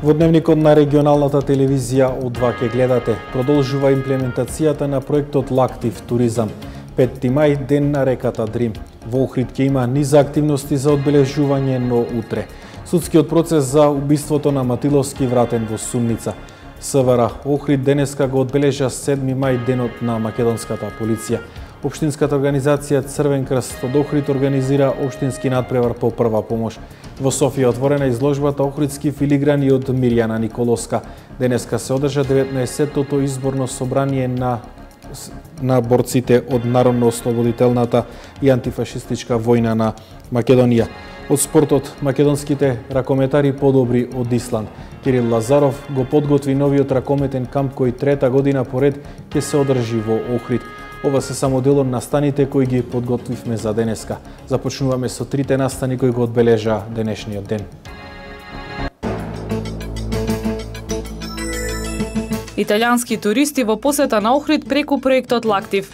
Во дневникот на регионалната телевизија О2 ќе гледате, продолжува имплементацијата на проектот Лактив туризам. 5 мај, ден на реката Дрим. Во Охрид ќе има низа активности за одбележување, но утре. Судскиот процес за убиството на Матиловски вратен во Сумница. СВР Охрид денеска го одбележа 7 мај, денот на македонската полиција. Општинската организација Црвен крст од Охрид организира општински надпревар по прва помош. Во Софија отворена изложбата Охридски филиграни од Мирјана Николовска. Денеска се одржа 19-тото изборно собрание на борците од Народно-ослободителната и антифашистичка војна на Македонија. Од спортот, македонските ракометари подобри од Исланд. Кирил Лазаров го подготви новиот ракометен камп кој трета година поред ќе се одржи во Охрид. Ова се само дел од настаните кои ги подготвивме за денеска. Започнуваме со трите настани кои го одбележа денешниот ден. Италијански туристи во посета на Охрид преку проектот Лактив.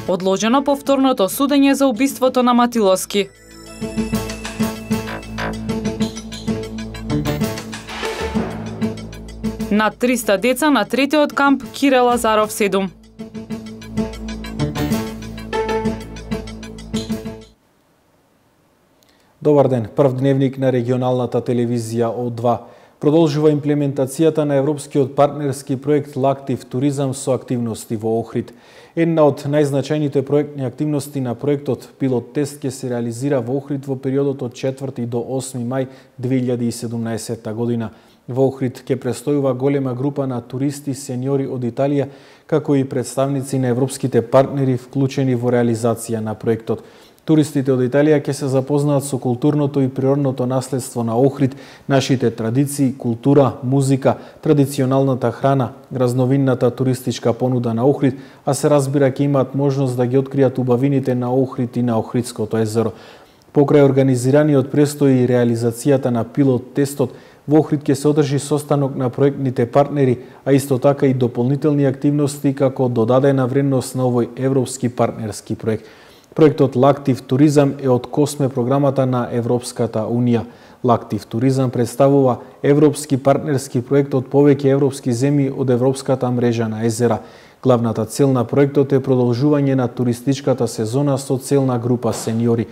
Одложено повторното судење за убиството на Матиловски. Над 300 деца на третиот камп Кирил Лазаров 7. Добар ден, прв дневник на регионалната телевизија О2. Продолжува имплементацијата на европскиот партнерски проект Лактив туризам со активности во Охрид. Една од најзначајните проектни активности на проектот пилот тест ќе се реализира во Охрид во периодот од 4 до 8 мај 2017 година. Во Охрид ќе престојува голема група на туристи сениори од Италија, како и представници на европските партнери вклучени во реализација на проектот. Туристите од Италија ќе се запознаат со културното и природното наследство на Охрид, нашите традиции, култура, музика, традиционалната храна, разновинната туристичка понуда на Охрид, а се разбира ќе имаат можност да ги откријат убавините на Охрид и на Охридското езеро. Покрај организираниот престои и реализацијата на пилот тестот, во Охрид ќе се одржи состанок на проектните партнери, а исто така и дополнителни активности како додадена вредност на овој европски партнерски проект. Проектот Лактив туризам е од Косме програмата на Европската Унија. Лактив туризам представува европски партнерски проект од повеќе европски земји од европската мрежа на езера. Главната цел на проектот е продолжување на туристичката сезона со целна група сениори.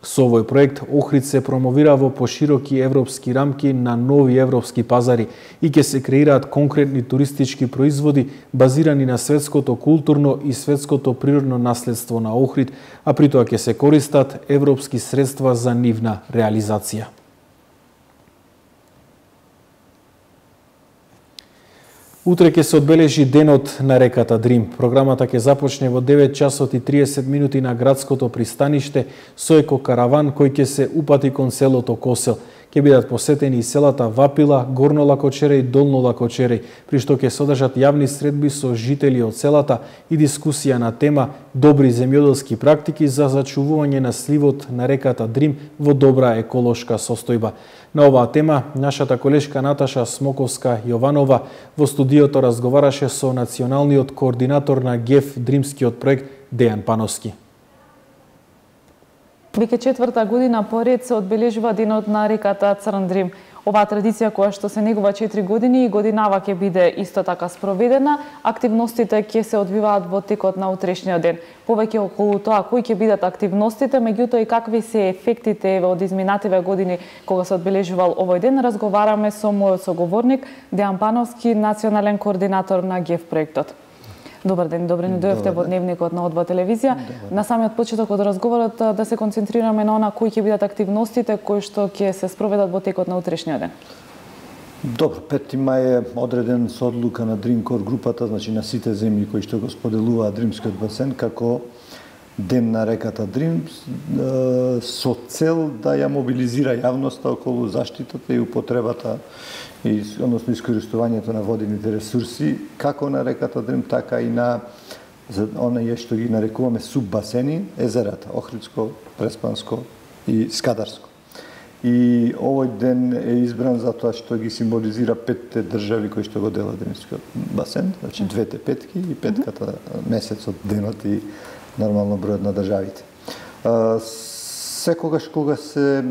Со овој проект Охрид се промовира во пошироки европски рамки на нови европски пазари и ќе се креираат конкретни туристички производи базирани на светското културно и светското природно наследство на Охрид, а при тоа ќе се користат европски средства за нивна реализација. Утре ќе се одбележи денот на реката Дрим. Програмата ќе започне во 9 часот и 30 минути на градското пристаниште со екокараван кој ќе се упати кон селото Косел. Ќе бидат посетени и селата Вапила, Горно Лакочере и Долно Лакочере, при што ќе содржат јавни средби со жители од селата и дискусија на тема добри земјоделски практики за зачувување на сливот на реката Дрим во добра еколошка состојба. На оваа тема, нашата колешка Наташа Смоковска Јованова во студиото разговараше со националниот координатор на ГЕФ Дримскиот проект Дејан Пановски. Веќе четврта година поред се одбележува денот на реката Црн Дрим. Оваа традиција која што се негува 4 години и годинава ќе биде исто така спроведена. Активностите ќе се одвиваат во текот на утрешниот ден. Повеќе околу тоа кои ќе бидат активностите, меѓутоа и какви се ефектите од изминативе години кога се одбележувал овој ден, разговараме со мојот соговорник Дејан Пановски, национален координатор на ГЕФ проектот. Добар ден, добре ни дојдовте во дневникот на О2 телевизија. На самиот почеток од разговорот да се концентрираме на она кои ќе бидат активностите кои што ќе се спроведат во текот на утрешниот ден. Добро, 5 мај е одреден со одлука на Dreamcore групата, значи на сите земји кои што го споделуваат Дримскиот басен како ден на реката Дрим со цел да ја мобилизира јавноста околу заштитата и употребата односно искористувањето на водените ресурси, како на реката Дрим, така и на оние што ги нарекуваме суббасени, езерата, Охридско, Преспанско и Скадарско. И овој ден е избран затоа што ги символизира 5 држави кои што го делат Дримскиот басен, значи 2 петки и петката месецот, денот и нормално бројот на државите. Секогаш кога се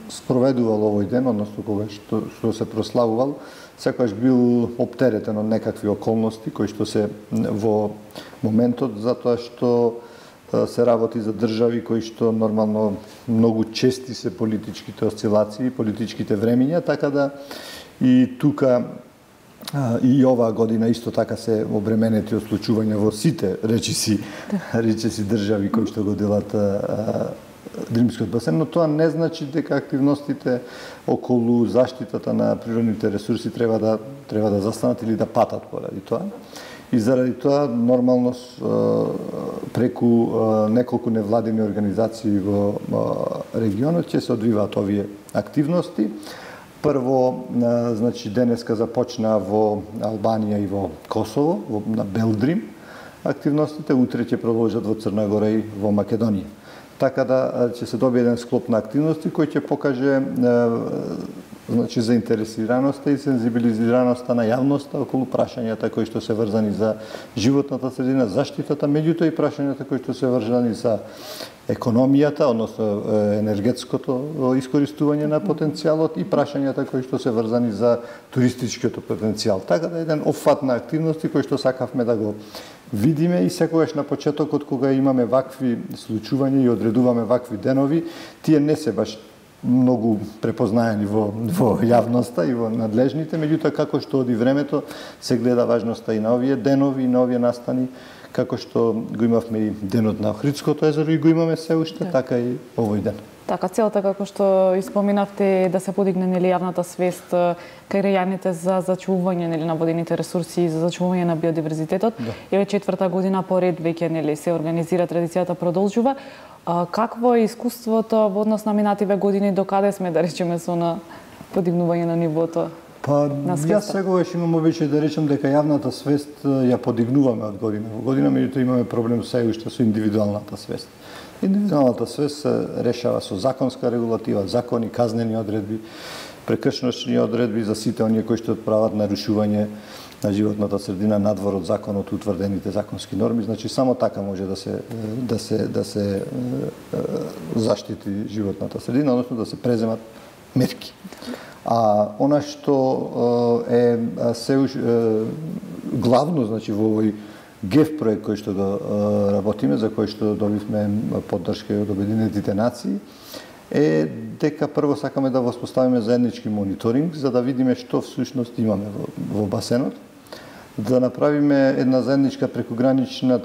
спроведувал овој ден, односно кога што се прославувал, секогаш бил оптеретен од некакви околности кои што се во моментот, затоа што се работи за држави кои што нормално многу чести се политичките осцилации, политичките времиња, така да и тука и оваа година исто така се обременети од случувања во сите речиси држави кои што го делат Дримскиот басен, но тоа не значи дека активностите околу заштитата на природните ресурси треба да застанат или да патат поради тоа. И заради тоа, нормално, преку неколку невладини организации во регионот ќе се одвиваат овие активности. Прво, значи, денеска започна во Албанија и во Косово, на Белдрим активностите, утре ќе продолжат во Црна Гора и во Македонија. Така да ќе се добие еден склоп на активности кој ќе покаже значи заинтересираноста и сензибилизираноста на јавноста околу прашањата кои што се врзани за животната средина, заштитата, меѓутоа и прашањата кои што се врзани за економијата, односно енергетското искористување на потенцијалот и прашањата кои што се врзани за туристичкиот потенцијал. Така да еден опфат на активности кои што сакавме да го видиме и секогаш на почетокот кога имаме вакви случувања и одредуваме вакви денови, тие не се баш многу препознаени во јавноста и во надлежните, меѓутоа како што оди времето се гледа важноста и на овие денови и на овие настани, како што го имавме и денот на Охридското езеро и го имаме се уште, така и овој ден. Така, целта, како што испоминавте, да се подигне нели јавната свест кај граѓаните за зачувување нели на водените ресурси и за зачувување на биодиверзитетот. Еве четврта година поред веќе нели се организира, традицијата продолжува. Какво е искуството во однос на минативе години, докаде сме, да речеме, со на подигнување на нивото? На јас сегогаш имам обичај да речем дека јавната свест ја подигнуваме од година во година, меѓутоа имаме проблем се уште со индивидуалната свест. Индивидуалната свест се решава со законска регулатива, закони, казнени одредби, прекршночни одредби за сите оние кои што прават нарушување на животната средина надвор од законот утврдените законски норми, значи само така може да се заштити животната средина, односно да се преземат мерки. А она што е се главно, значи во овој ГЕФ проект кој што го работиме, за кој што добивме поддршка од Обединетите нации, е дека прво сакаме да воспоставиме заеднички мониторинг за да видиме што всушност имаме во басенот, да направиме една заедничка прекогранична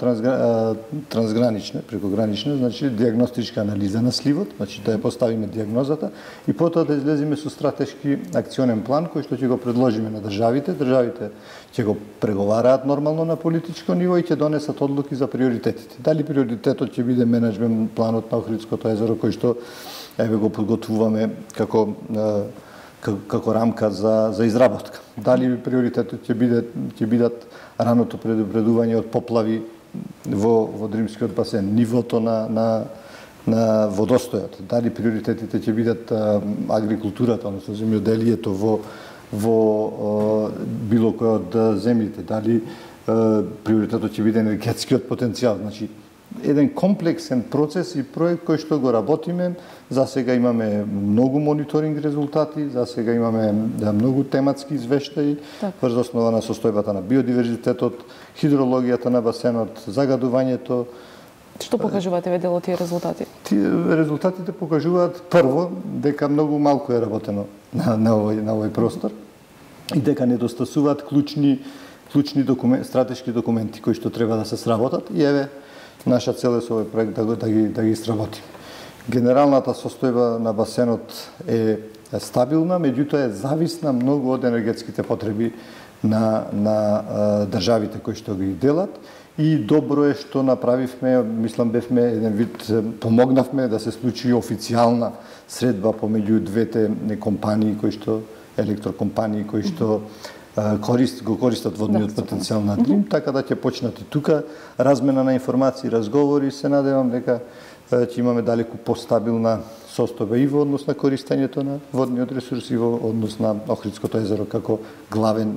прекогранична, значи дијагностичка анализа на сливот, значи да ја поставиме дијагнозата и потоа да излеземе со стратешки акционен план кој што ќе го предложиме на државите. Државите ќе го преговараат нормално на политичко ниво и ќе донесат одлуки за приоритетите. Дали приоритетот ќе биде менеджмент планот на Охридското езеро кој што еве го подготвуваме како рамка за изработка. Дали приоритетот ќе бидат раното предупредување од поплави во Дримскиот басен, нивото на водостојот. Дали приоритетите ќе бидат агрикултурата, односно земјоделието во било кој од земјите. Дали приоритетот ќе биде енергетскиот потенцијал. Значи, еден комплексен процес и проект кој што го работиме. За сега имаме многу мониторинг резултати, за сега имаме многу тематски извештаи врз основа на состојбата на биодиверзитетот, хидрологијата на басенот, загадувањето. Што покажуваат еве дел од тие резултати? Резултатите покажуваат прво дека многу малку е работено на овој простор и дека недостасуваат клучни стратешки документи кои што треба да се сработат и еве наша цел е со овој проект да ги сработиме. Генералната состојба на басенот е стабилна, меѓутоа е зависна многу од енергетските потреби на државите кои што ги делат и добро е што направивме, мислам бевме еден вид помогнавме да се случи официјална средба помеѓу двете компании кои што електрокомпании кои што го користат водниот потенцијал на Дрим, така да ќе почнат и тука размена на информации, разговори, се надевам дека ќе имаме далеку постабилна состојба и во однос на користењето на водниот ресурс и во однос на Охридското езеро како главен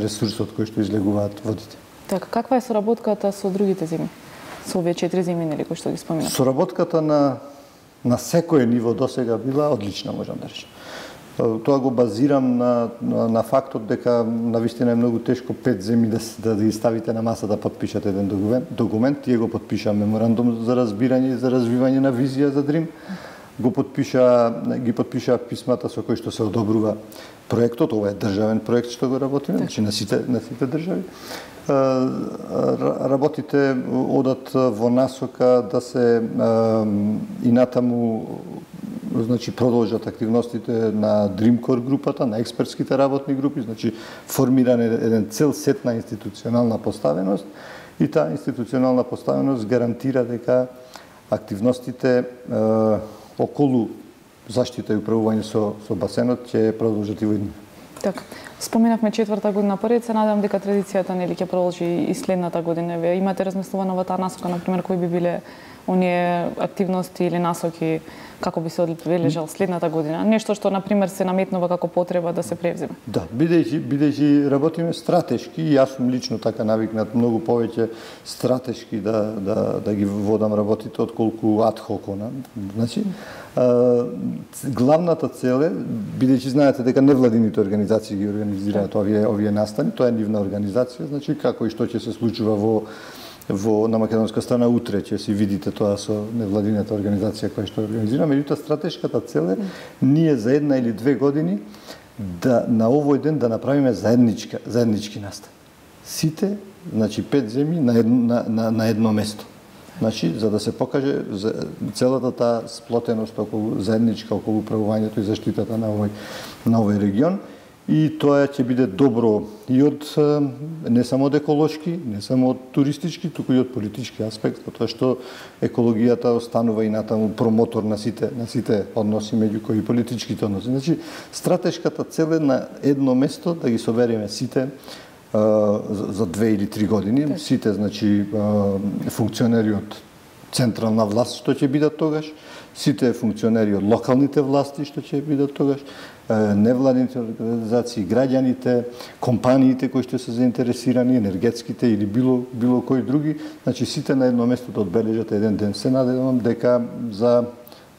ресурс од кој што излегуваат водите. Така, каква е соработката со другите земји? со овие 4 земи нели кои што ги споминав? Соработката на секое ниво досега била одлична, можам да речам. Тоа го базирам на фактот дека навистина е многу тешко 5 земи да ги ставите на маса да подпишете еден документ. Тие го подпиша меморандум за разбирање и за развивање на визија за Дрим. Ги подпиша писмата со кои што се одобрува проектот. Ова е државен проект што го работиме, значи на сите држави. Работите одат во насока да се и натаму значи продолжат активностите на Dreamcore групата, на експертските работни групи, значи формиран еден цел сет на институционална поставеност и таа институционална поставеност гарантира дека активностите околу заштита и управување со басенот ќе продолжат и во иднина. Така. Споминавме 4-та година поред, се надевам дека традицијата нели ќе продолжи и следната година. Вие имате размислувано во таа насока, например, кои би биле оние активности или насоки како би се одбележал следната година? Нешто што например се наметнува како потреба да се превземе. Да, бидејќи работиме стратешки, и јас сум лично така навикнат многу повеќе стратешки да ги водам работите отколку адхок. Значи, главната цел е, бидејќи знаете дека невладините организации ги организираат овие настани, тоа е нивна организација, значи како и што ќе се случува на македонска страна утре ќе си видите тоа со невладината организација која што организира. Меѓутоа стратешката цел е ние за 1 или 2 години на овој ден да направиме заеднички настан. Сите, значи 5 земи на едно место. Значи за да се покаже целата таа сплотеност околу заедничка околу управувањето и заштитата на овој регион. И тоа ќе биде добро и од не само од еколошки, не само од туристички, туку и од политички аспект, затоа што екологијата останува и натаму промотор на сите односи меѓу кои политичките односи. Значи стратешката цел е на едно место да ги собереме сите за 2 или 3 години, сите значи функционери од централна власт што ќе бидат тогаш, сите функционери од локалните власти што ќе бидат тогаш, невладините организации, граѓаните, компаниите кои што се заинтересирани, енергетските или било кои други, значи сите на едно место да одбележат еден ден. Се надевам дека за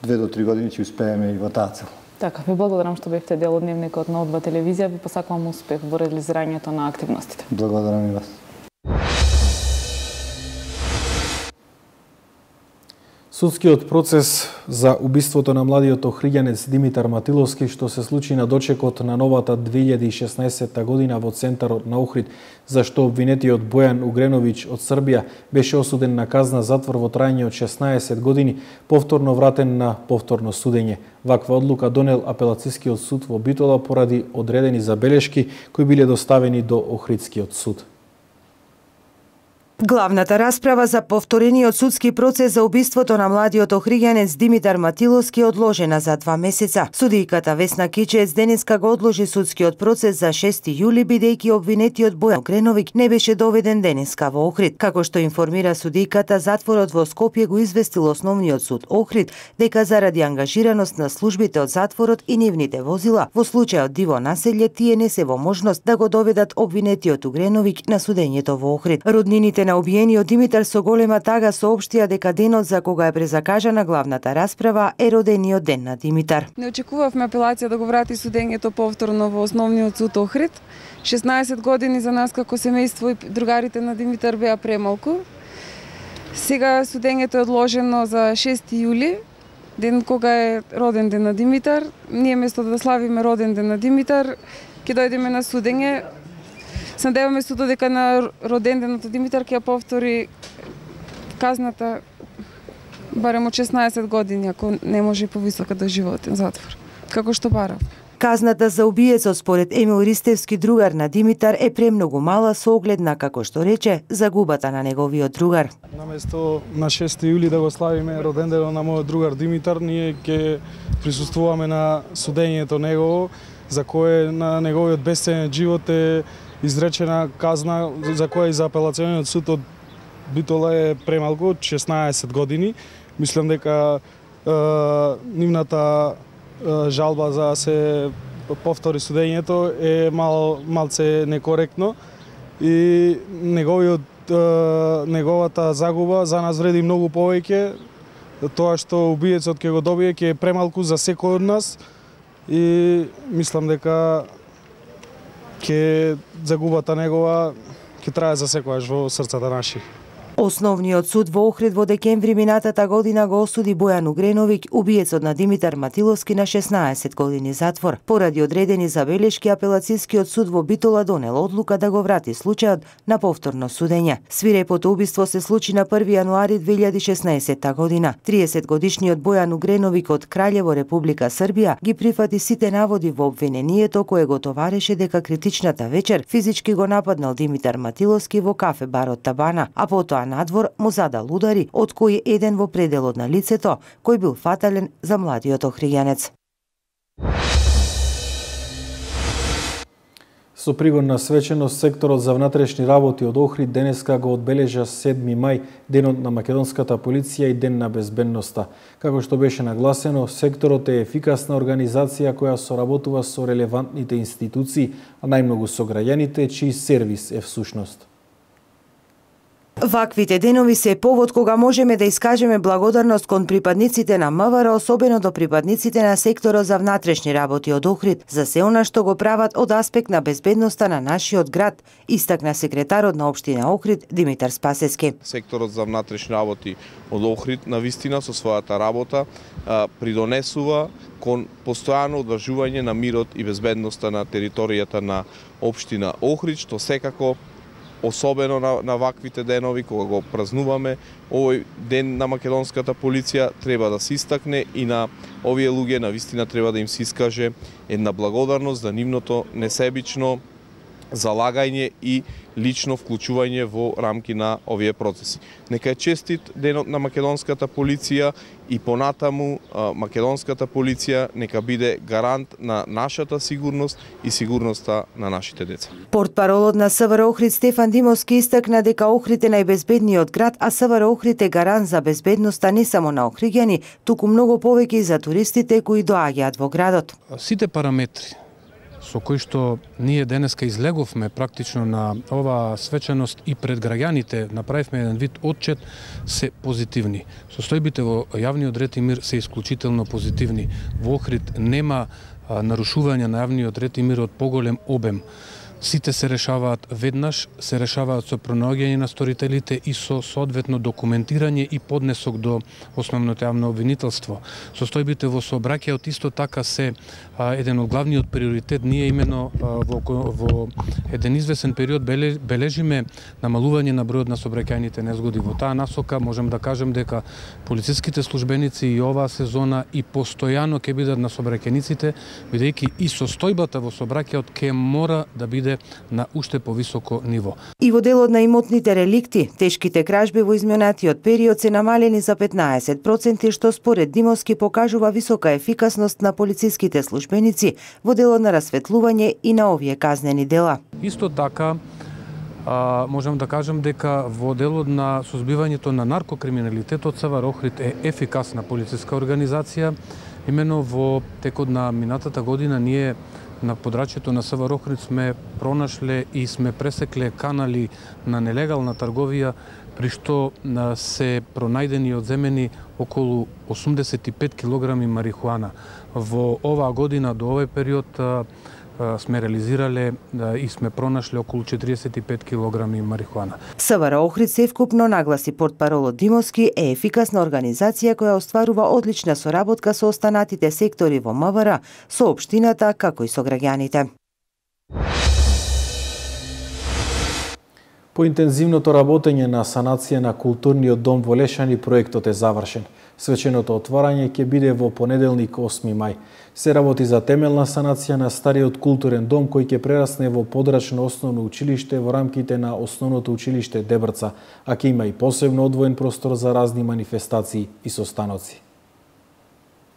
2 до 3 години ќе успееме и во таа цел. Така, ви благодарам што бевте дел од дневникот на О2 телевизија, ви посакувам успех во реализирањето на активностите. Благодарам и вас. Судскиот процес за убиството на младиот охриѓанец Димитар Матиловски, што се случи на дочекот на новата 2016 година во центарот на Охрид, за што обвинетиот Бојан Угреновиќ од Србија беше осуден на казна затвор во трајање од 16 години, повторно вратен на повторно судење. Ваква одлука донел апелацискиот суд во Битола поради одредени забелешки кои биле доставени до Охридскиот суд. Главната расправа за повторениот судски процес за убиството на младиот охриѓанец Димитар Матиловски е одложена за 2 месеца. Судијката Весна Кичец денеска го одложи судскиот процес за 6 јули бидејќи обвинетиот Бојан Угреновиќ не беше доведен денеска во Охрид. Како што информира судијката, затворот во Скопје го известил основниот суд Охрид дека заради ангажираност на службите од затворот и нивните возила во случајот диво населје тие не се во можност да го доведат обвинетиот Угреновиќ на судењето во Охрид. Роднините на убиениот Димитар со голема тага соопштија дека денот за кога е презакажана главната расправа е родениот ден на Димитар. Не очекувавме апелација да го врати судењето повторно во основниот суд Охрид. 16 години за нас како семејство и другарите на Димитар беа премалку. Сега судењето е одложено за 6 јули, ден кога е роден ден на Димитар. Ние место да славиме роден ден на Димитар, ќе дојдеме на судење. Се надеваме судот дека на роден денот Димитар ќе повтори казната барем од 16 години, ако не може и повисока доживотен затвор, како што барав. Казната за убиецот според Емил Ристевски, другар на Димитар, е премногу мала со оглед на, како што рече, загубата на неговиот другар. Наместо на 6 јули да го славиме роденденот на мојот другар Димитар, ние ќе присуствуваме на судењето негово, за кое на неговиот бесценен живот е изречена казна за која и за апелациониот суд од Битола е премалку, 16 години. Мислам дека нивната жалба за да се повтори судењето е малце некоректно и неговиот неговата загуба за нас вреди многу повеќе. Тоа што убиецот ќе го добие ќе е премалку за секој од нас и мислам дека ќе загубата негова ќе трае за секојаш во срцата наши. Основниот суд во Охрид во декември минатата година го осуди Бојан Угреновиќ, убиецот на Димитар Матиловски, на 16 години затвор. Поради одредени забелешки, апелацијскиот суд во Битола донел одлука да го врати случајот на повторно судење. Свирепото убиство се случи на 1 јануари 2016 година. 30-годишниот Бојан Угреновиќ од Краљево, Република Србија, ги прифати сите наводи во обвинението кое го товареше дека критичната вечер физички го нападнал Димитар Матиловски во кафе барот Табана, а потоа надвор му задал удари, од кои еден во пределот на лицето, кој бил фатален за младиот охриѓанец. Со пригодна свеченост, секторот за внатрешни работи од Охрид денеска го одбележа 7 мај, денот на македонската полиција и ден на безбедноста. Како што беше нагласено, секторот е ефикасна организација која соработува со релевантните институции, а најмногу со граѓаните, чиј сервис е всушност. Ваквите денови се повод кога можеме да искажеме благодарност кон припадниците на МВР, особено до припадниците на секторот за внатрешни работи од Охрид, за се она што го прават од аспект на безбедноста на нашиот град, истакна секретарот на општина Охрид Димитар Спасески. Секторот за внатрешни работи од Охрид навистина со својата работа придонесува кон постојано одржување на мирот и безбедноста на територијата на општина Охрид, што секако особено на ваквите денови, кога го празнуваме, овој ден на македонската полиција треба да се истакне и на овие луѓе навистина треба да им се искаже една благодарност за нивното несебично залагање и лично вклучување во рамки на овие процеси. Нека е честит денот на македонската полиција и понатаму македонската полиција нека биде гарант на нашата сигурност и сигурноста на нашите деца. Портпаролот на СВР Охрид Стефан Димовски истакна дека Охрид е најбезбедниот град, а СВР Охрид е гарант за безбедноста не само на охриѓани, туку многу повеќе и за туристите кои доаѓаат во градот. Сите параметри со кои што ние денеска излеговме практично на оваа свеченост и пред граѓаните, направивме еден вид отчет, се позитивни. Состојбите во јавниот ред и мир се исклучително позитивни. Во Охрид нема нарушување на јавниот ред и мир од поголем обем. Сите се решаваат веднаш, се решаваат со пронаоѓање на сторителите и со соодветно документирање и поднесок до основното јавно обвинителство. Состојбите во сообраќајот исто така се еден од главниот приоритет. Ние имено во еден извесен период бележиме намалување на бројот на сообраќајните незгоди. Во таа насока можем да кажем дека полициските службеници и оваа сезона и постојано ќе бидат на сообраќајниците, бидејќи и состојбата во сообраќајот ќе мора да биде на уште повисоко ниво. И во делот на имотните реликти, тешките кражби во изминатиот период се намалени за 15%, што според Димовски покажува висока ефикасност на полициските службеници во делот на расветлување и на овие казнени дела. Исто така, можам да кажем дека во делот на сузбивањето на наркокриминалитетот СВР Охрид е ефикасна полициска организација. Имено во текот на минатата година ние на подрачјето на СВР Охрид сме пронашле и сме пресекле канали на нелегална трговија, при што се пронајдени и одземени околу 85 килограми марихуана. Во оваа година до овој период сме реализирале и сме пронашле околу 45 килограми марихуана. СВР Охрид севкупно, нагласи портпаролот Димовски, е ефикасна организација која остварува одлична соработка со останатите сектори во МВР, со општината, како и со граѓаните. По интензивното работење на санација на културниот дом во Лешани, проектот е завршен. Свеченото отварање ќе биде во понеделник 8 мај. Се работи за темелна санација на стариот културен дом кој ќе прерасне во подрачно основно училиште во рамките на основното училиште Дебрца, а ќе има и посебно одвоен простор за разни манифестации и состаноци.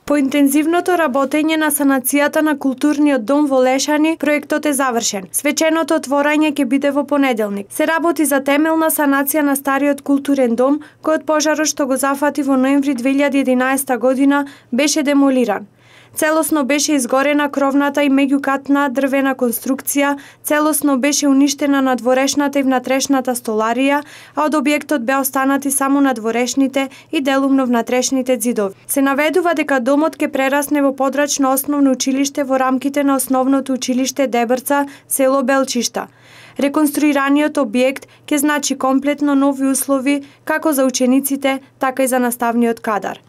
По интензивното работење на санацијата на културниот дом во Лешани, проектот е завршен. Свеченото отворање ќе биде во понеделник. Се работи за темелна санација на стариот културен дом, кој од пожарот што го зафати во ноември 2011 година беше демолиран. Целосно беше изгорена кровната и меѓукатна дрвена конструкција, целосно беше уништена надворешната и внатрешната столарија, а од објектот беа останати само надворешните и делумно внатрешните ѕидови. Се наведува дека домот ќе прерасне во подрачно основно училиште во рамките на основното училиште Дебрца, село Белчишта. Реконструираниот објект ќе значи комплетно нови услови како за учениците, така и за наставниот кадар.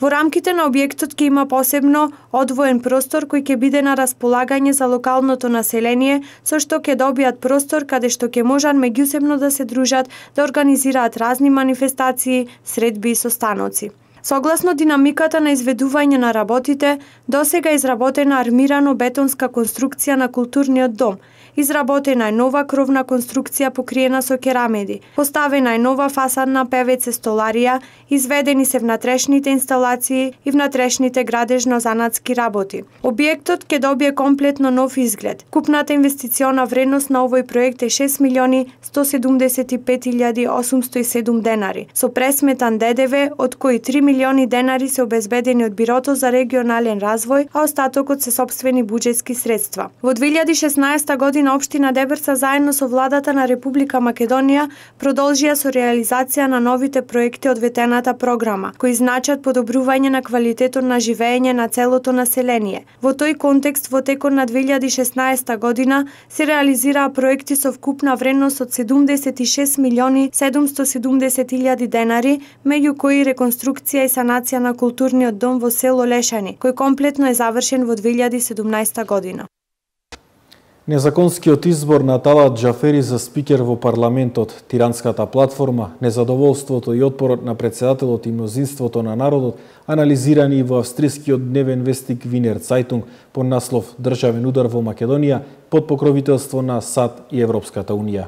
Во рамките на објектот ќе има посебно одвоен простор кој ќе биде на располагање за локалното население, со што ќе добијат простор каде што ќе можат меѓусебно да се дружат, да организираат разни манифестации, средби и состаноци. Согласно динамиката на изведување на работите, досега е изработена армирано-бетонска конструкција на културниот дом, изработена е нова кровна конструкција покриена со керамиди, поставена е нова фасадна ПВЦ столарија, изведени се внатрешните инсталации и внатрешните градежно-занатски работи. Објектот ќе добие комплетно нов изглед. Купната инвестициона вредност на овој проект е 6.175.807 денари, со пресметан ДДВ, од кои 3 милиони денари се обезбедени од Бирото за регионален развој, а остатокот се сопствени буџетски средства. Во 2016 година Општина Дебрца заедно со владата на Република Македонија продолжија со реализација на новите проекти од ветената програма, кои значат подобрување на квалитетот на живење на целото население. Во тој контекст, во текот на 2016 година се реализираа проекти со вкупна вредност од 76.770.000 денари, меѓу кои реконструкција и санација на културниот дом во село Лешани, кој комплетно е завршен во 2017 година. Незаконскиот избор на Талат Џафери за спикер во парламентот, тиранската платформа, незадоволството и отпорот на председателот и мнозинството на народот, анализирани и во австрискиот дневен вестник Винер Цајтунг под наслов Државен удар во Македонија под покровителство на САД и Европската унија.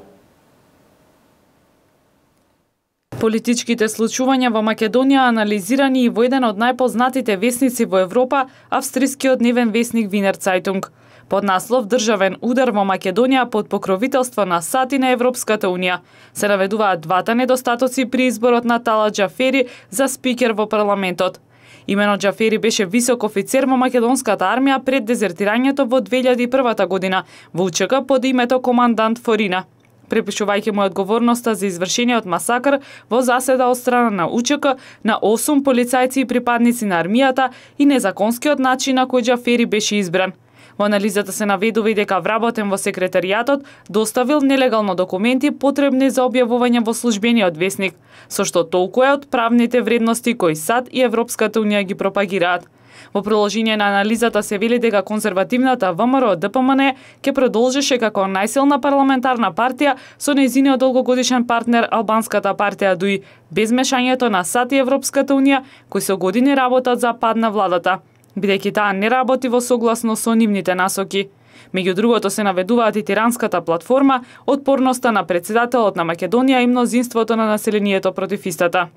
Политичките случувања во Македонија анализирани и во еден од најпознатите весници во Европа, австрискиот дневен вестник Винер Цајтунг. Под наслов Државен удар во Македонија под покровителство на САД и на Европската унија се наведуваат двата недостатоци при изборот на Талат Џафери за спикер во парламентот. Имено Џафери беше висок офицер во македонската армија пред дезертирањето во 2001 година во УЧК под името командант Форина. Препишувајќи му одговорноста за извршениот масакр во заседа од страна на УЧК на 8 полицајци и припадници на армијата и незаконскиот начин на кој Џафери беше избран. Во анализата се наведува и дека вработен во секретаријатот доставил нелегално документи потребни за објавување во службениот весник, со што толку е од правните вредности кои САД и Европската унија ги пропагираат. Во продолжение на анализата се вели дека конзервативната ВМРО ДПМН ќе продолжеше како најсилна парламентарна партија со нејзиниот долгогодишен партнер албанската партија ДУИ, без мешањето на САД и Европската унија, кои со години работат за пад на владата, бидејќи таа не работи во согласно со нивните насоки. Меѓу другото се наведуваат и тиранската платформа, отпорноста на председателот на Македонија и мнозинството на населението против истата.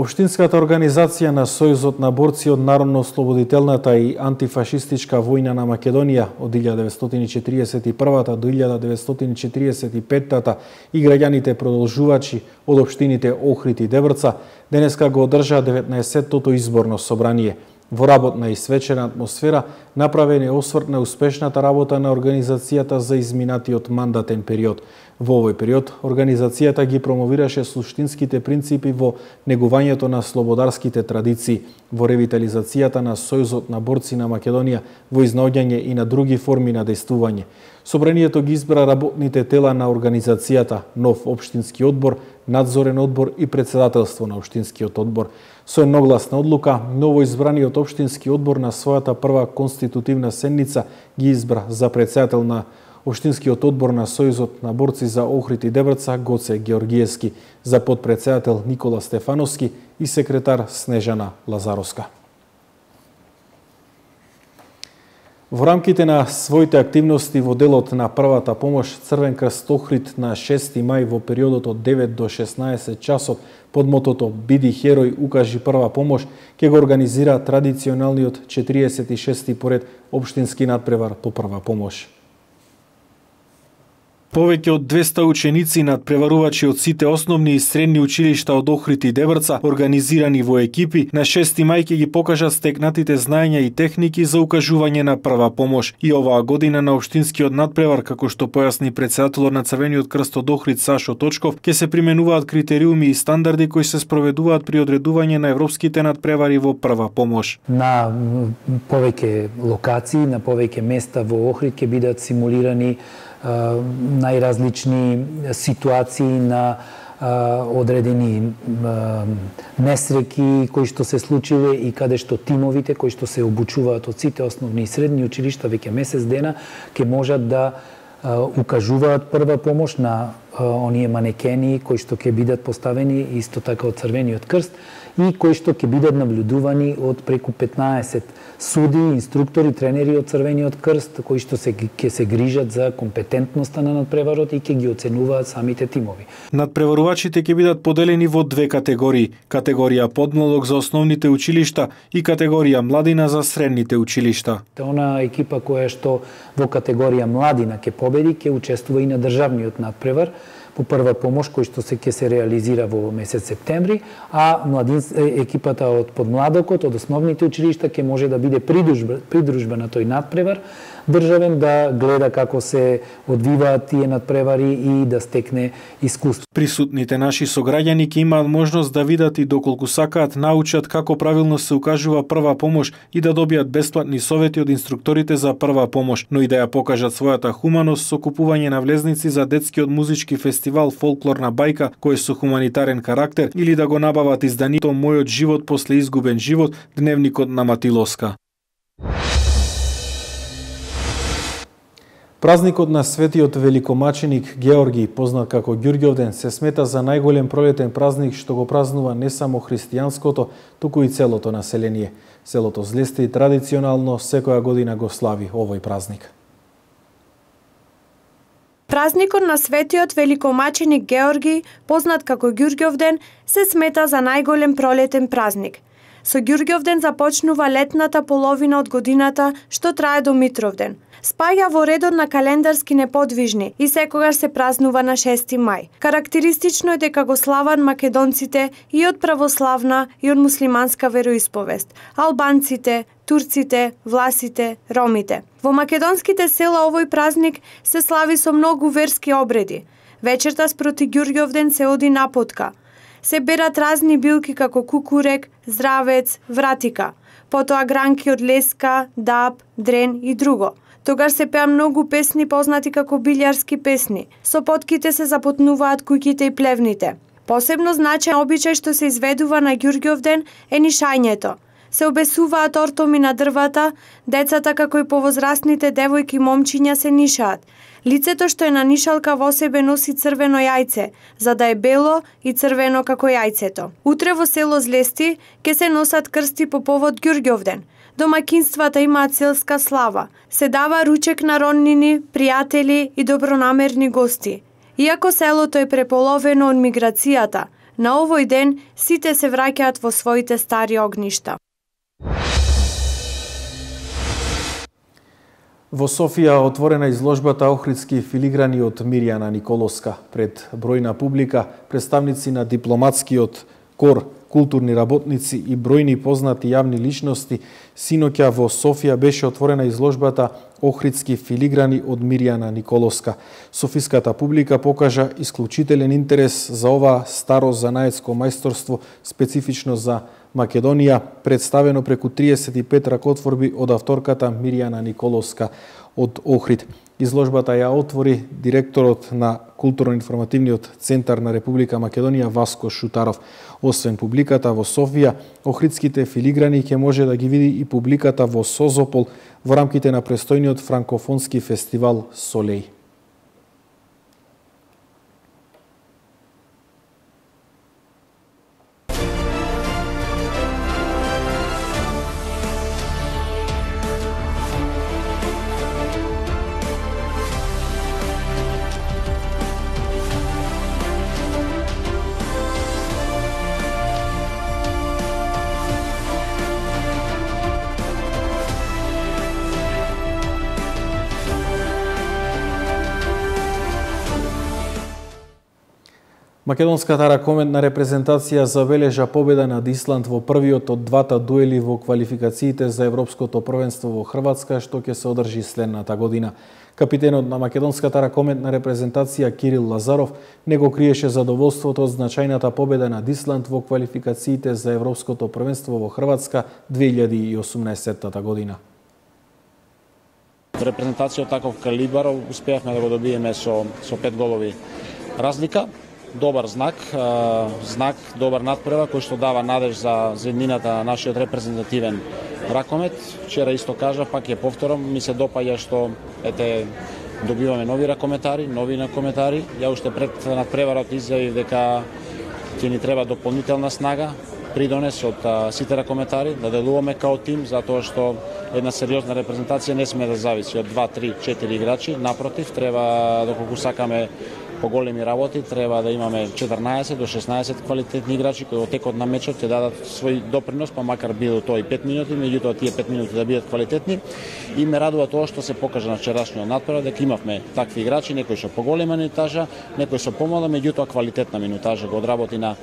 Општинската организација на Сојузот на борци од народно-ослободителната и антифашистичка војна на Македонија од 1941 до 1945 и граѓаните продолжувачи од општините Охрид и Дебрца денеска го одржаа 19-тото изборно собрание. Во работна и свечена атмосфера направен е осврт на успешната работа на организацијата за изминатиот мандатен период. Во овој период, организацијата ги промовираше суштинските принципи во негувањето на слободарските традиции, во ревитализацијата на Сојузот на борци на Македонија, во изнаоѓање и на други форми на дејствување. Собранието ги избра работните тела на организацијата, нов општински одбор, надзорен одбор и председателство на општинскиот одбор. Со едногласна одлука, новоизбраниот општински одбор на својата прва конститутивна седница ги избра за председател на Општинскиот одбор на Сојузот на борци за Охрид и Дебрца Гоце Георгиевски, за подпредседател Никола Стефановски и секретар Снежана Лазаровска. Во рамките на своите активности во делот на првата помош, Црвен крст Охрид на 6 мај во периодот од 9 до 16 часот под мотото "Биди херој, укажи прва помош" ќе го организира традиционалниот 46-ти поред општински надпревар по прва помош. Повеќе од 200 ученици надпреварувачи од сите основни и средни училишта од Охрид и Дебрца, организирани во екипи, на 6 мај ќе ги покажат стекнатите знаења и техники за укажување на прва помош. И оваа година на општинскиот надпревар, како што појасни претседателот на Црвениот крст од Охрид Сашо Точков, ќе се применуваат критериуми и стандарди кои се спроведуваат при одредување на европските надпревари во прва помош. На повеќе локации, на повеќе места во Охрид ќе бидат симулирани најразлични ситуации на одредени несреќи кои што се случиле и каде што тимовите кои што се обучуваат од сите основни и средни училишта веќе месец дена ќе можат да укажуваат прва помош на оние манекени кои што ќе бидат поставени исто така од Црвениот крст и кои што ќе бидат наблюдувани од преку 15 суди, инструктори, тренери од Црвениот крст кои што ќе се грижат за компетентноста на надпреварот и ќе ги оценуваат самите тимови. Надпреварувачите ќе бидат поделени во две категории: категорија подмладок за основните училишта и категорија младина за средните училишта. Она екипа која што во категорија младина ќе победи ќе учествува и на државниот надпревар по прва помош кој што ќе се реализира во месец септември, а екипата од подмладокот од основните училишта ќе може да биде придружба на тој надпревар државен, да гледа како се одвиваат тие надпревари и да стекне искуство. Присутните наши сограѓани ќе имаат можност да видат и доколку сакаат научат како правилно се укажува прва помош и да добијат бесплатни совети од инструкторите за прва помош, но и да ја покажат својата хуманост со купување на влезници за детскиот музички фестивал Фолклорна бајка кој е со хуманитарен карактер, или да го набават изданието Мојот живот после изгубен живот, дневникот на Матилоска. Празникот на светиот великомаченик Георги, познат како Ѓурѓовден, се смета за најголем пролетен празник што го празнува не само христијанското, туку и целото население. Селото Злести традиционално секоја година го слави овој празник. Празникот на светиот великомаченик Георги, познат како Ѓурѓовден, се смета за најголем пролетен празник. Со Ѓурѓовден започнува летната половина од годината што трае до Митровден. Спаѓа во редот на календарски неподвижни и секогаш се празнува на 6 мај. Карактеристично е дека го слават македонците и од православна и од муслиманска вероисповест, албанците, турците, власите, ромите. Во македонските села овој празник се слави со многу верски обреди. Вечерта спроти Ѓурѓовден се оди напотка. Се берат разни билки како кукурек, здравец, вратика, потоа гранки од леска, даб, дрен и друго. Тогаш се пеа многу песни познати како билјарски песни. Со потките се запотнуваат куќите и плевните. Посебно значаен обичај што се изведува на Ѓурѓовден е нишањето. Се обесуваат ортоми на дрвата, децата како и повозрастните девојки и момчиња се нишаат. Лицето што е на нишалка во себе носи црвено јајце, за да е бело и црвено како јајцето. Утре во село Злести ќе се носат крсти по повод Ѓурѓовден. Домакинствата имаат селска слава. Се дава ручек на роднини, пријатели и добронамерни гости. Иако селото е преполовено од миграцијата, на овој ден сите се враќаат во своите стари огништа. Во Софија отворена изложбата Охридски филиграни од Мирјана Николоска. Пред бројна публика, представници на дипломатскиот кор, културни работници и бројни познати јавни личности, синоќа во Софија беше отворена изложбата Охридски филиграни од Мирјана Николоска. Софиската публика покажа исклучителен интерес за ова старо занаетско мајсторство, специфично за Македонија, представено преку 35 ракотворби од авторката Мирјана Николоска од Охрид. Изложбата ја отвори директорот на Културно-информативниот центар на Република Македонија Васко Шутаров. Освен публиката во Софија, охридските филиграни ќе може да ги види и публиката во Созопол во рамките на престојниот франкофонски фестивал Солеј. Македонската ракометна репрезентација забележа победа над Исланд во првиот од двата дуели во квалификациите за Европското првенство во Хрватска, што ќе се одржи следната година. Капитенот на македонската ракометна репрезентација Кирил Лазаров не го криеше задоволството од значајната победа над Исланд во квалификациите за Европското првенство во Хрватска 2018 година. Репрезентација од таков калибар успеавме да го добиеме со 5 голови разлика. Добар знак, добар надпревар кој што дава надеж за еднината на нашиот репрезентативен ракомет. Вчера исто кажа, пак ја повторам, ми се допаѓа што добиваме нови ракометари. Ја уште пред надпреварот изјавив дека ќе ни треба дополнителна снага, придонес од сите ракометари, да делуваме као тим, затоа што една сериозна репрезентација не сме да зависи од 2, 3, 4 играчи. Напротив, треба, доколку сакаме поголеми работи, треба да имаме 14 до 16 квалитетни играчи кои во текот на мечот ќе дадат свој допринос, па макар било тоа и 5 минути, меѓутоа тие 5 минути да бидат квалитетни. И ме радува тоа што се покажа на вчерашниот надпревар дека имавме такви играчи, некои со поголема минутажа, некои со помала, меѓутоа квалитетна минутажа го одработи на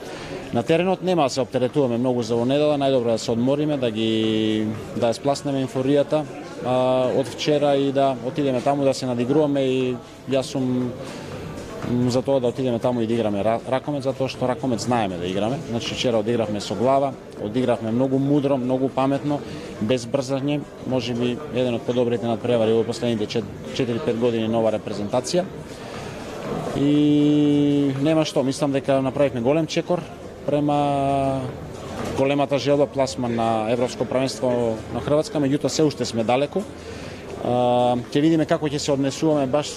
теренот. Нема да се оптеретуваме многу за недела, најдобро да се одмориме, да ја спласнеме инфоријата од вчера и да отидеме таму да се надигруваме. И јас сум за тоа да отидеме таму и да играме ракомет, затоа што ракомет знаеме да играме. Значи вчера одигравме со глава, одигравме многу мудро, многу паметно, без брзање, можеби еден од подобрите надпревари во последните 4-5 години нова репрезентација. И нема што, мислам дека направивме голем чекор према големата желба пласман на Европско првенство на Хрватска, меѓутоа се уште сме далеку. Ќе видиме како ќе се однесуваме, баш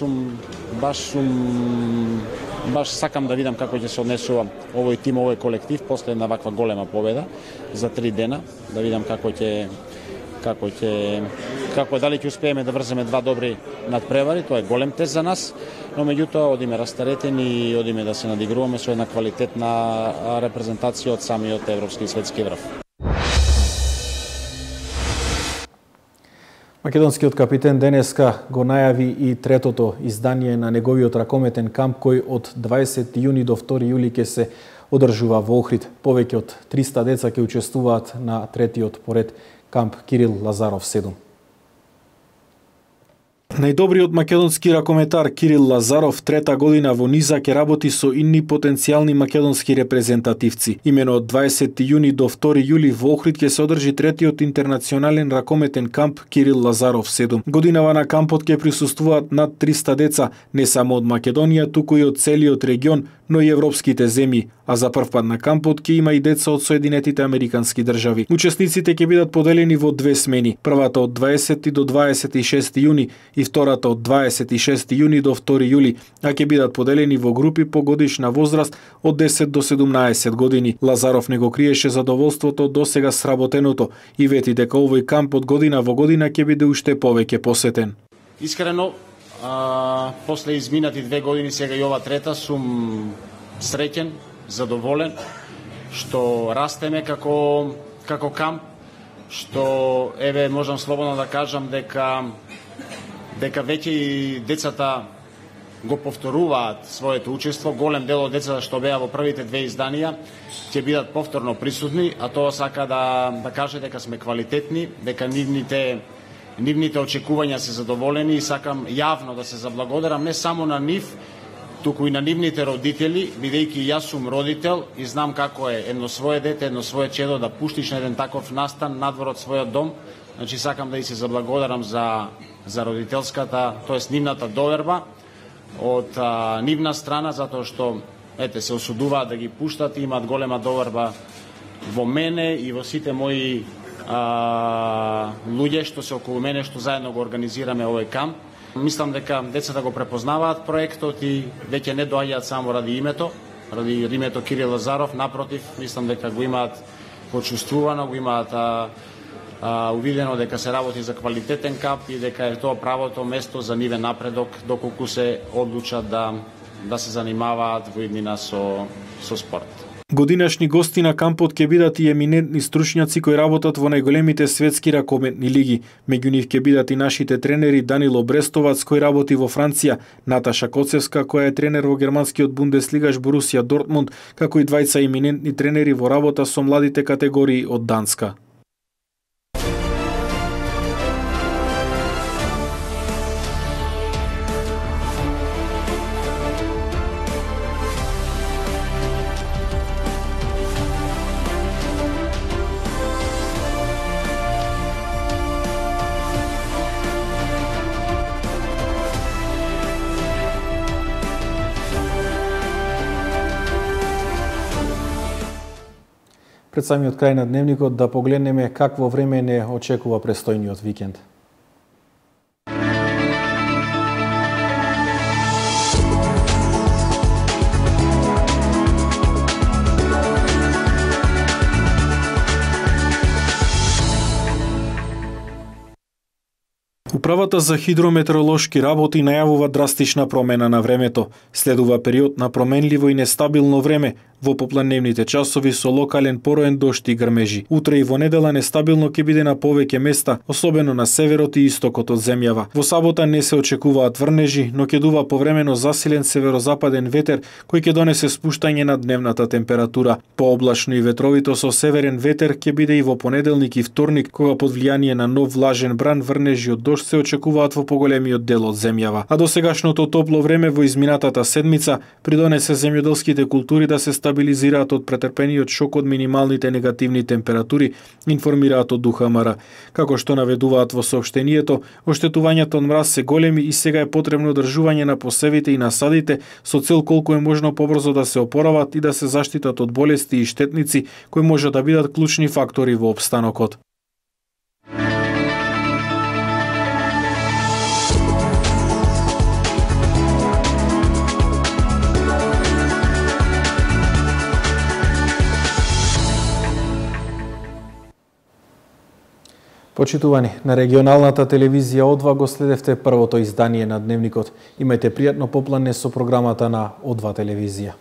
сакам да видам како ќе се однесува овој тим, овој колектив после една ваква голема победа за 3 дена, да видам како дали ќе успееме да врземе два добри надпревари. Тоа е голем тест за нас, но меѓутоа одиме растаретени и одиме да се надигруваме со една квалитетна репрезентација од самиот европски и светски врв. Македонскиот капитен денеска го најави и третото издание на неговиот ракометен камп кој од 20 јуни до 2 јули ќе се одржува во Охрид. Повеќе од 300 деца ќе учествуваат на третиот поред камп Кирил Лазаров 7. Најдобриот македонски ракометар Кирил Лазаров трета година во низа ќе работи со инни потенцијални македонски репрезентативци. Имено од 20 јуни до 2 јули во Охрид ќе се одржи третиот интернационален ракометен камп Кирил Лазаров 7. Годинава на кампот ќе присуствуваат над 300 деца, не само од Македонија, туку и од целиот регион, но и европските земји, а за прв пат на кампот ќе има и деца од Соединетите Американски држави. Учесниците ќе бидат поделени во две смени, првата од 20 до 26 јуни и втората од 26 јуни до 2 јули, а ќе бидат поделени во групи по годишна возраст од 10 до 17 години. Лазаров не го криеше задоволството до сега сработеното и вети дека овој камп од година во година ќе биде уште повеќе посетен. Искрено, после изминати 2 години, сега и ова трета, сум среќен, задоволен, што растеме како камп, што можам слободно да кажам дека веќе и децата го повторуваат своето учество. Голем дел од децата што беа во првите 2 изданија ќе бидат повторно присутни, а тоа сака да каже дека сме квалитетни, дека нивните очекувања се задоволени и сакам јавно да се заблагодарам не само на нив, туку и на нивните родители, бидејќи јас сум родител и знам како е едно свое дете, едно свое чедо да пуштиш на еден таков настан надвор од својот дом. Значи сакам да и се заблагодарам за родителската, тоест нивната доверба од нивна страна, затоа што се осудуваат да ги пуштат и имаат голема доверба во мене и во сите мои луѓе што се околу мене, што заедно го организираме овој камп. Мислам дека децата го препознаваат проектот и веќе не доаѓаат само ради името Кирил Лазаров, напротив, мислам дека го имаат почувствувано, го имаат увидено дека се работи за квалитетен камп и дека е тоа правото место за нивен напредок доколку се одлучат да се занимаваат во иднина со спорт. Годинашни гости на кампот ќе бидат и еминентни стручњаци кои работат во најголемите светски ракометни лиги. Меѓу нив ќе бидат и нашите тренери Данило Брестовац кој работи во Франција, Наташа Коцевска која е тренер во германскиот бундеслигаш Борусија Дортмунд, како и двајца еминентни тренери во работа со младите категории од Данска. Пред самиот крај на дневникот да погледнеме какво време не очекува престојниот викенд. Управата за хидрометеоролошки работи најавува драстична промена на времето. Следува период на променливо и нестабилно време, во попладневните часови со локален пороен дожд и грмежи. Утре и во недела нестабилно ќе биде на повеќе места, особено на северот и истокот од земјава. Во сабота не се очекуваат врнежи, но ќе дува повремено засилен северозападен ветер кој ќе донесе спуштање на дневната температура. Пооблачно и ветровито со северен ветер ќе биде и во понеделник и вторник, кога под влијание на нов влажен бран врнежи од дожд се очекуваат во поголемиот дел од земјава. А досегашното топло време во изминатата седмица придонесе земјоделските култури да се стабилизираат од претрпениот шок од минималните негативни температури, информираат од ДУХМР. Како што наведуваат во соопштението, оштетувањата од мраз се големи и сега е потребно одржување на посевите и насадите со цел колку е можно побрзо да се опорават и да се заштитат од болести и штетници кои може да бидат клучни фактори во опстанокот. Почитувани, на регионалната телевизија О2 го следевте првото издание на Дневникот. Имајте пријатно попладне со програмата на О2 телевизија.